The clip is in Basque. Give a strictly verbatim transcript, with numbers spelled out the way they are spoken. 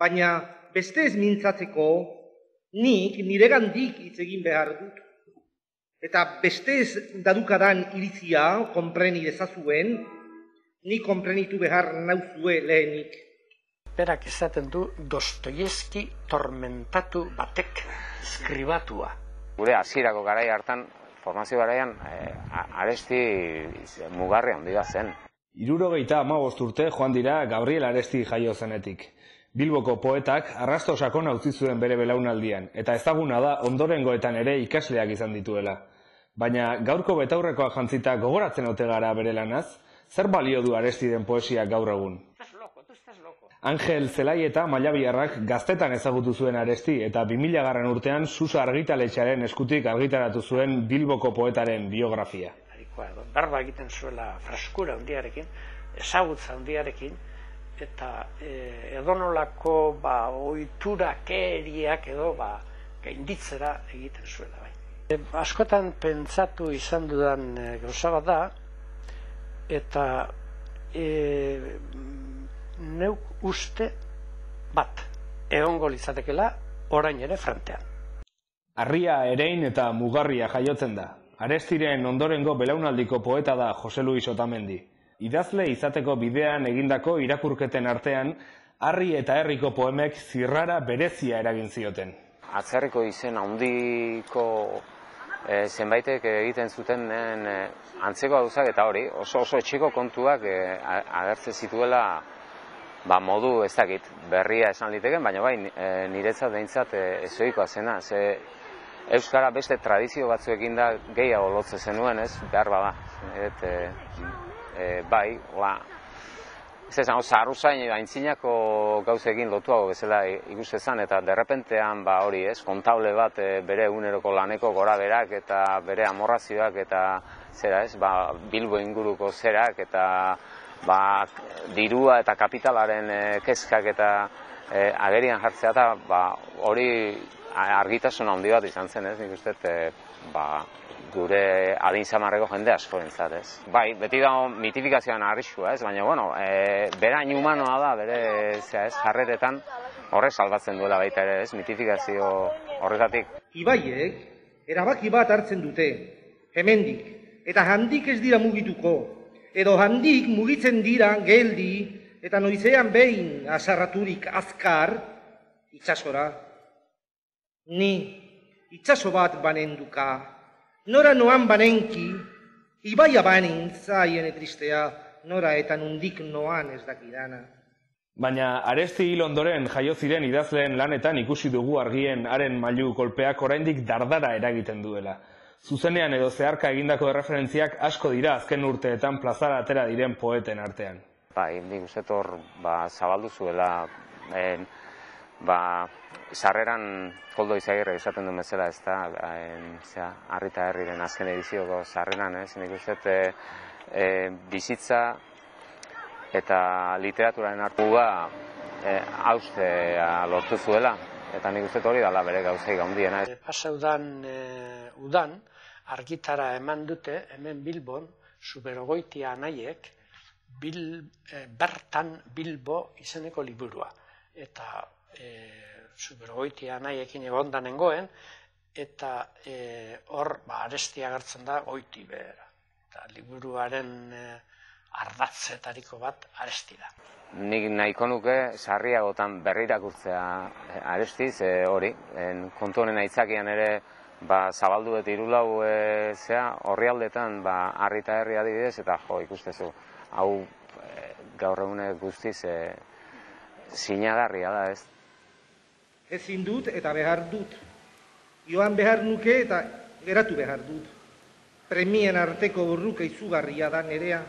baina beste ez mintzatzeko nik niregandik hitz egin behar dut. Eta beste ez dadukadan iritzia konpreni dezazuen, ni konprenitu behar nauzue lehenik. Berak esaten du Dostoievski tormentatu batek skribatua. Gure hasierako garai hartan, formazio garaian, eh, Aresti mugarri handi bat zen. Hirurogeita hamabost urte joan dira Gabriel Aresti jaio zenetik. Bilboko poetak arrasto sakona utzi zuen bere belaunaldian, eta ezaguna da ondorengoetan ere ikasleak izan dituela. Baina gaurko betaurrekoa jantzita gogoratzen ote gara bere lanaz, zer balio du Arestiren poesia gaur egun? Angel Zelaieta Mailabiarrak gaztetan ezagutu zuen Aresti eta bi mila garren urtean Susa argitaletxearen eskutik argitaratu zuen Bilboko poetaren biografia. Berba egiten zuela freskura handiarekin, ezagutza handiarekin, eta edonolako ohiturakeriak edo gainditzera egiten zuela. Askotan pentsatu izan dudan gauza bat da, eta neuk uste bat egongo litzatekeela orain ere frontean. Harria, erein eta mugarria jaiotzen da. Arestiren ondorengo belaunaldiko poeta da Jose Luis Otamendi. Idazle izateko bidean egindako irakurketen artean, Harri eta Herriko poemek zirrara berezia eragin zioten. Atzerriko izen handiko zenbaitek egiten zuten antzeko gauzak eta hori, oso oso etxeko kontuak agertzen zituela modu ez dakit, berria esan liteken, baina bai niretzat behintzat ezoikoa zena. Euskara beste tradizio batzuekin da gehiago lotze zenuen, ez, behar bada. Bai, ez esan, zaharruzain aintzinako gauzekin lotuago bezala ikustezan, eta derrepentean hori, ez, kontable bat bere eguneroko laneko gora berak eta bere amorrazioak eta zera, ez, Bilbo inguruko zerak eta dirua eta kapitalaren kezkak eta agerian jartzea eta hori argitasun handi bat izan zen, ez, nik uste, gure adin zamarreko jende askorentzat, ez. Bai, beti dago mitifikazioan arriskua, ez, baina, bueno, berain humanoa da, bere, ez, jarreretan horrek salbatzen duela baita ere, ez, mitifikazio horretatik. Ibaiek erabaki bat hartzen dute, hemendik, eta handik ez dira mugituko, edo handik mugitzen dira geldi, eta noizean behin azarraturik azkar, itsasora. Ni, itsaso bat banenduka, nora noan banenki, ibaia banintza hiene tristea, nora eta nundik noan ez dakidana. Baina Aresti hil ondoren jaio ziren idazleen lanetan ikusi dugu argien haren mailu kolpeak oraindik dardara eragiten duela. Zuzenean edo zeharka egindako erreferentziak asko dira azken urteetan plazara atera diren poeten artean. Bai, nik uste hor zabaldu zuela, sarreran Koldo Izagirre esaten duen bezala, ez da, Harri eta Herriren azken edizioko sarreran, ez, nik uste bizitza eta literaturaren hartua haustea lortu zuela, eta nik uste hori dala bere gauzaik handiena. Pasa udan, argitara eman dute, hemen Bilbon, Zuberogoitia anaiek, bertan Bilbo izeneko liburua. Eta Zuberogoitia anaiekin egondan nengoen, eta hor Aresti agertzen da goiti behera. Eta liburuaren ardatzetariko bat Aresti da. Nik nahiko nuke sarriagotan berrirakurtzea Arestiz hori, kontu honen aitzakian ere zabaldu eta irulau horri aldetan Harri eta Herri adibidez, eta jo, ikustezu, hau gaur egunek guztiz sinagarria da, ez? Ezin dut eta behar dut. Joan behar nuke eta geratu behar dut. Premien arteko borruka izugarria da nerea.